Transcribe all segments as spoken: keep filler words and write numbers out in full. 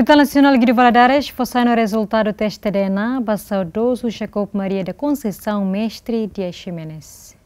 Hospital Nasionál Guido Valadares fó sai no rezultadu teste D N A ba saudozu Jacob Maria da Conceição Mestre Dias Ximenes.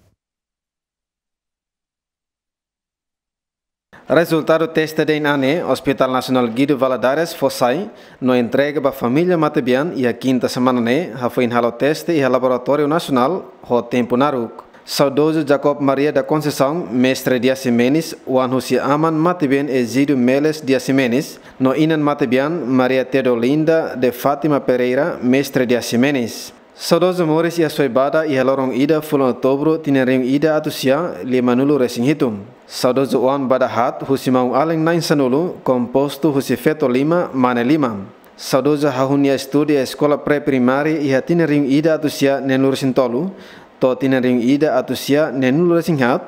Rezultadu teste D N A ne'e Hospital Nasionál Guido Valadares fó sai no entrega ba família matebian iha kinta semana ne'e, hafoin halo teste iha Laboratóriu Nasionál ho tempu naruk. Saudozu Jacob Maria da Conceição Mestre Dias Ximenes, oan husi aman matebian Egidio Meles Dias Ximenes, no inan matebian Maria Teodolinda de Fátima Pereira Mestre Dias Ximenes. Saudozu moris iha Soibada iha loron ida fulan Outubru tinan rihun ida atus sia lima-nulu resin hitu. Saudozu oan bada haat husi maun-alin na'in sanulu, kompostu husi feto lima, mane lima. Saudozu hahú nia estudu iha eskola pré-primária iha tinan rihun ida atus sia neenulu resin tolu to'o tinan rihun ida atus sia neenulu resin haat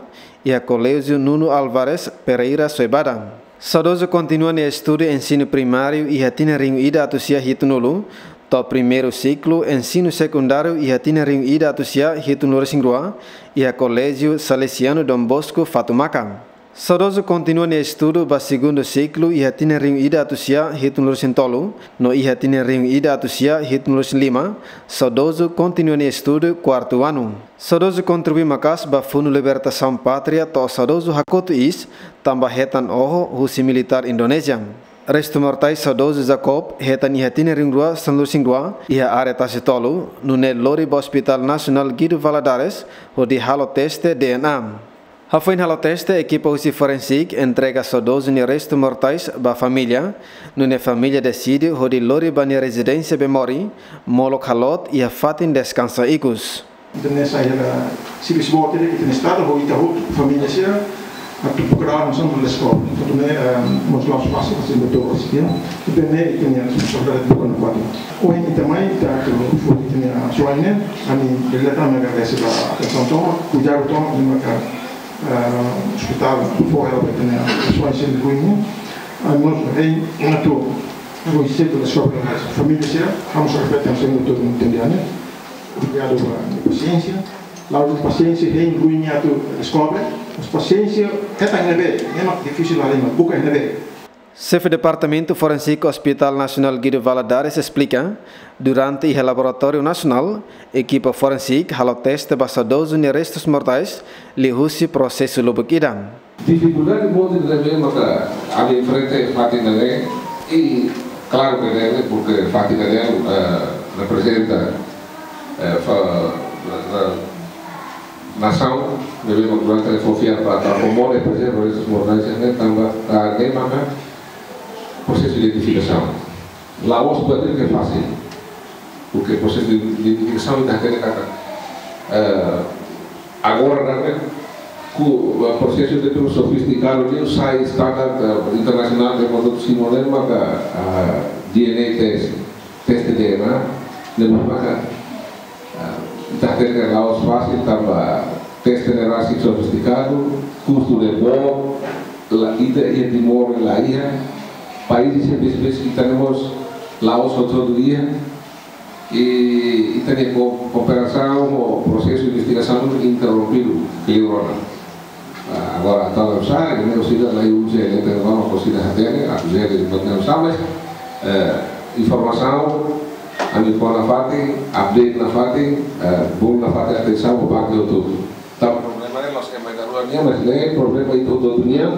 iha Koléjiu Nuno Álvares Pereira, Soibada. Saudozu kontinua nia estudu ensinu primáriu iha tinan rihun ida atus sia hitunulu, to'o primeiru siklu ensinu sekundáriu iha tinan rihun ida atus sia hitunulu resin rua, iha Koléjiu Salesianu Dom Bosco, Fatumaka. Saudozu kontinua nia estudu ba segundu siklu iha tinan rihun ida atus sia hitunulu resin tolu, no iha tinan rihun ida atus sia hitunulu resin lima, saudozu kontinua nia estudu kuartu anu. Saudozu kontribui maka'as ba Fundu Libertasaun Pátria to'o saudozu hakotu iis tanba hetan oho husi militár Indonézia. Restu mortais saudozu Jacob hetan iha tinan rihun rua sanulu resin rua iha área Tasi Tolu, nune'e lori ba Hospital Nasionál Guido Valadares hodi halo teste D N A. Hafoin halo teste, ekipa husi forensik entrega saudozu nia restu mortais ba família, nune'e família deside hodi lori ba nia rezidénsia bee-morin, molok haloot iha fatin deskansa ikus. Entaun ne'e sai hela servisu boot ida, ita-nia estrada, ho ita hotu, família sira, atu prokura nasaun ba eskola. Entaun ne'e, eh, mós la'ós fasil, fasil betul, fasil, ya. Entaun ne'e, ita-nia responsabilidade buka nafatin. Ohin ita mai, ita atu foti ita-nia soaine, ami, direto, ami agradese ba atensaun tomak, kuidadu tomak, ami maka, eh, ospitál, fó hela ba ita-nia soaine sira ne'ebé. Ami mós, eh, atu, ami sempre descobre mais família sira, ami só repete, ami sempre todo mundo entende, né? Obrigadu ba pasiénsia. La'ós pasiénsia hein ruin atu deskobre, mas pasiénsia hetan ne'ebé, ne'e mak difisil la lima, buka ne'ebé. Xefe Departamentu Forensik Hospital Nasionál Guido Valadares esplika, durante iha Laboratóriu Nasionál, ekipa forensik halo teste ba saudozu nia restus mortais, liuhusi prosesu lubuk ida. Difikuldade mós ne'ebé maka ami enfrenta iha fatin ne'e, i klaru ke ne'e, porke fatin ne'e, eh, reprezenta, eh, fa-, eh, nasaun, ne'ebé maka durante ne'e fó fiar para atu mós prezerva restus mortais ne'e, tanba, ah, ne'e maka prosesu identifikasaun. La'ós buat ida ke fasil. Porke prosesu de, de identifikasaun ita hatene katak, eh, agora ne'e, ku, eh, prosesu de tudo sofistikadu, ne'e sai standar, eh, internasionál de modo simu ne'e maka, ah, D N A test, teste D N A, ne'e maka, ah, ita hatene katak la'ós fasil tanba teste ne'e rasik sofistikadu, kustu ne'e boot, la ita iha Timor la iha, país sira besik-besik ita ne'e mós la'ós hotu-hotu iha, i ita-nia ko-, kooperasaun ho prosesu investigasaun interrompidu, kleur ona. Ah, agora, entaun, la sabe, ne'e orsida la iha urjénsia, entaun, vamos, orsida hatene, atu hatene, entaun, la sabe, mas, eh, informasaun, ami fó nafatin, update nafatin, eh, bolu nafatin atensaun ba parte hotu-hotu. Tanba problema ne'e la'ós ema ida-rua nian, mas ne'e problema ita hotu-hotu nian,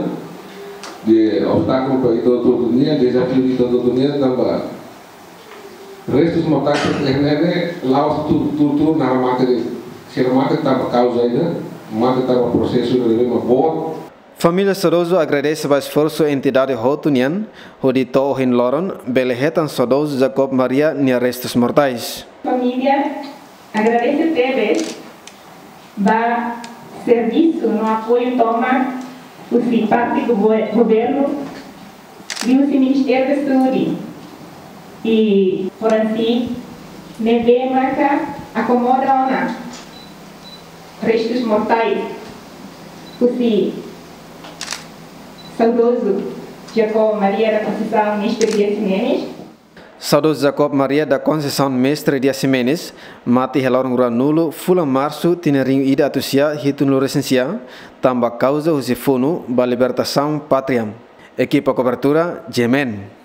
de obstákulu ba ita hotu-hotu nian, dezafiu ita hotu-hotu nian, tanba restus mortais ne'e, ne'e, ne'e, la'ós tuur, tuur, tuur, naran mate de'it. Sira mate tanba kauza ida, mate tanba prosesu ne'ebé mak boot. Família saudozu agradese ba esforsu entidade hotu nian, hodi to'o ohin loron, bele hetan saudozu Jacob Maria nia restus mortais. Família agradese tebes ba servisu no apoiu tomak husi parte gover-, governu, liuhusi Ministériu da Saúde i forensik, ne'ebé maka akomoda ona restus mortais husi saudozu Jacob Maria da Conceição Mestre Dias Ximenes. Saudozu Jacob Maria da Conceição Mestre Dias Ximenes mate iha loron ruanulu fulan Marsu tinan rihun ida atus sia hitunulu resin sia, tanba kauza husi funu ba libertasaun pátria. Ekipa kobertura, G M N.